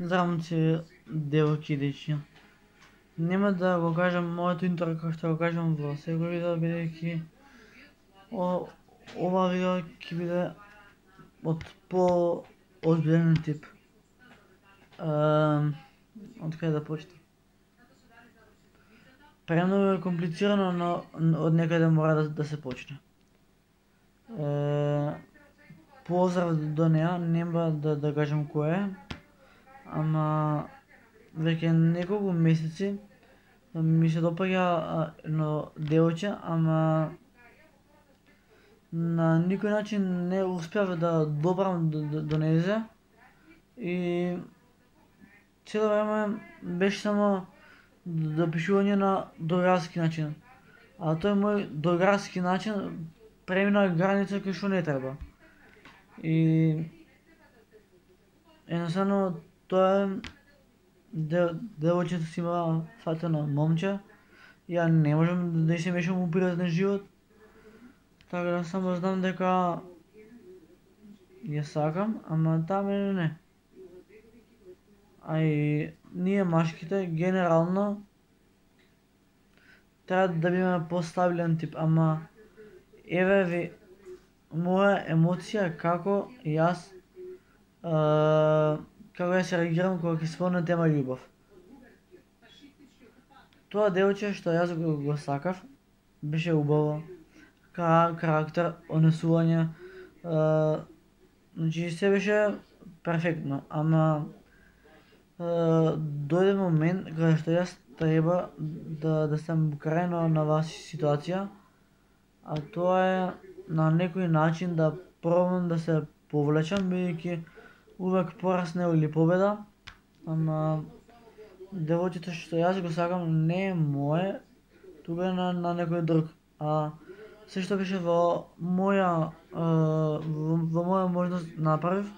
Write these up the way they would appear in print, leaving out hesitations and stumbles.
Здравници, девојки и дечиња. Нема да го кажам моето интро како што го кажам во секој видео, бидејќи ова видео ќе биде од по-озбилен тип. Од каде да почнем? Премногу е комплицирано, но од некаде мора да се почне. Поздрав до неа, нема да кажам кој е, ама веќе неколку месеци ми се допаѓа едно девојче, ама на никој начин не успеав да добрам до незе и цело време беше само допишување на другарски начин. А тој мој другарски начин премина граница кој што не треба. И едноставно тоа девојчето си има фатено момче, ја не можам да се мешам у приватен живот, така да само знам дека ја сакам, ама таа мене не. А и ние машките генерално треба да бидеме постабилен тип, ама еве ви моја емоција како јас се реагирам кога ќе спомнам тема љубов. Тоа девојче што јас го сакав беше убаво, карактер, однесување, значи се беше перфектно, ама дојде момент кога што јас треба да сам крајно на вас ситуација, а тоа е на некој начин да пробам да се повлечам, бидејќи увек пораз не или победа, ама девојчето што јас го сакам не е мое, тука е на некој друг. А се што беше во моја можност направив,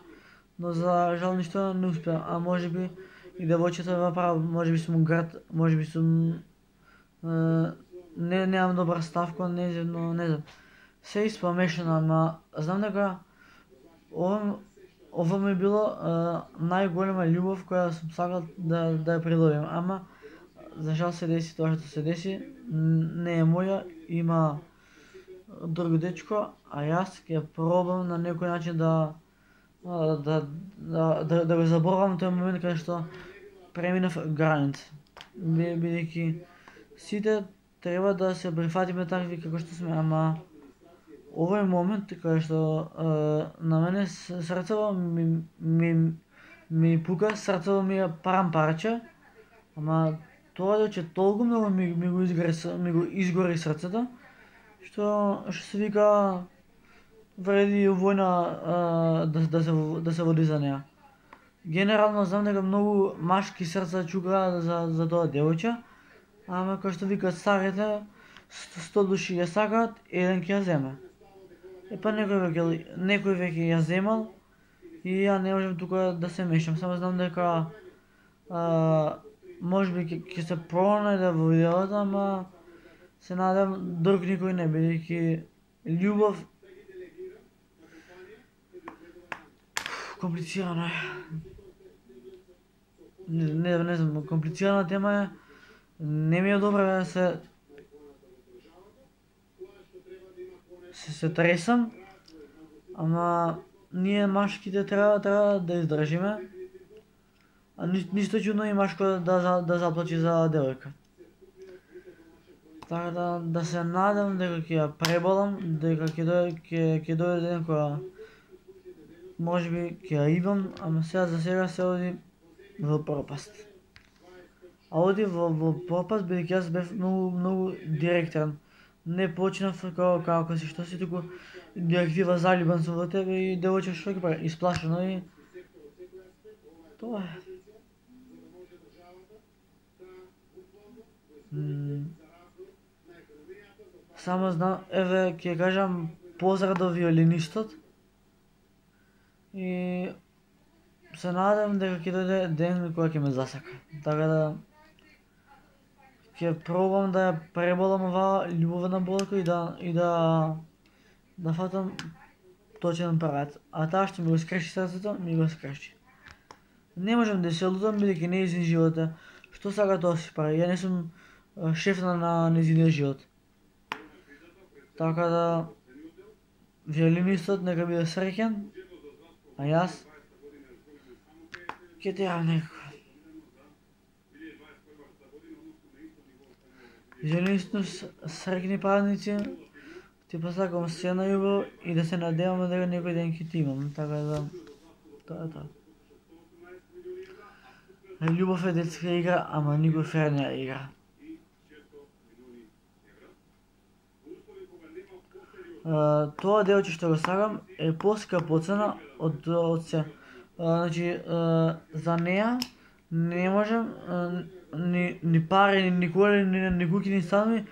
но за жал ништо не успеа, а можеби и девојчето ме прав, можеби сум грд, можеби сум немам добар став кон нејзе, но не знам. Се испомешано, ама знам дека ова ми било најголема љубов која сум сакал да ја придобием, ама за жал се деси тоа што се деси, не е моја, има друг дечко, а јас ќе пробам на некој начин да го заборавам тој момент каде што преминав граница, бидејќи сите треба да се прифатиме такви како што сме, ама овој момент каде што на мене срцево ми пука, срцево ми е парче, ама тоа дека толку многу ми го изгори срцето, што се вика вреди војна да се води за неа. Генерално знам дека многу машки срца чукаат за тоа девојче, ама кој што викаат старите, 100 души ја сакаат, еден ќе ја земе. Епа некој веќе ја земал и ја не можам тука да се мешам, само знам дека можеби ќе се пронајде во видеото, ама се надевам друг никој не, бидејќи љубов комплицирано е. Не знам, комплицирана тема е, не ми е добра да се тресам, ама ние машките треба да издржиме, а ништо чудно и машко да заплачи за девојка. Така да се надам дека ќе ја преболам, дека ќе дојде ден кога можеби ќе ја идам, ама за сега се оди во пропаст. А оди во пропаст бидејќи јас бев многу директен. Не почнав како си што си, туку директива заљубен сум во тебе и девојче што ќе прави, исплашено и тоа е. Само знам, еве ќе кажам поздрав до виолинистот и се надам дека ќе дојде ден кога ќе ме засака. Така да ќе пробам да ја преболам оваа љубовна болка и да фатам точен правец. А таа што ми го скрши срцето, ми го скрши. Не можам да се лутам бидејќи нејзин живот е. Што сака тоа си прави? Ја не сум шеф на нејзиниот живот. Така да виолинистот нека биде среќен, а јас ќе терам некако. Виолинистот среќни празници, ти посакам се најубаво и да се надеваме дека некој ден ќе ти имам, така да тоа е тоа. Љубов е детска игра, ама никој фер не ја игра. Тоа делче што го сакам е поскапоцена од се. Значи, за неа не можам ни пари, ни коли, ни куќи, ни станови,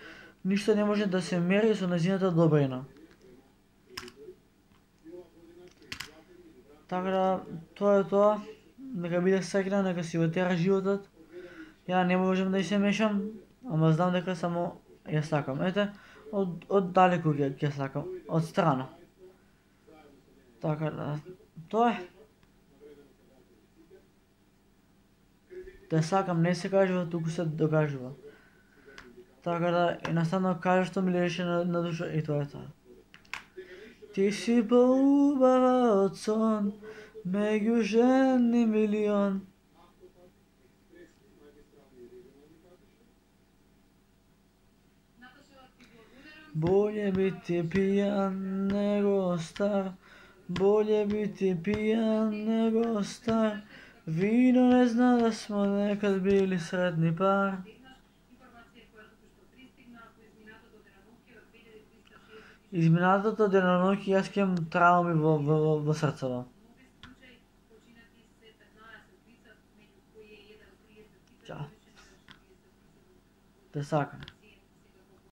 ништо не може да се мери со нејзината добрина. Така да, тоа е тоа. Нека биде среќна, нека си го тера животот. Ја не можам да и се мешам, ама знам дека само ја сакам. Ете, од далеку ќе сакам, од страна. Така да, тоа е. Да сакам не се кажува, туку се докажува. Така да, едноставно кажа што ми лежеше на душа и тоа е тоа. Ти си поубава од сон, меѓу жени милион. Болje biti pijan nego star, bolje biti pijan nego star. Vino ne zna da smo nekad bili sretni par. Изминатото деноноќ јас ќе имам трауми во срцето. Чао. Те сакам.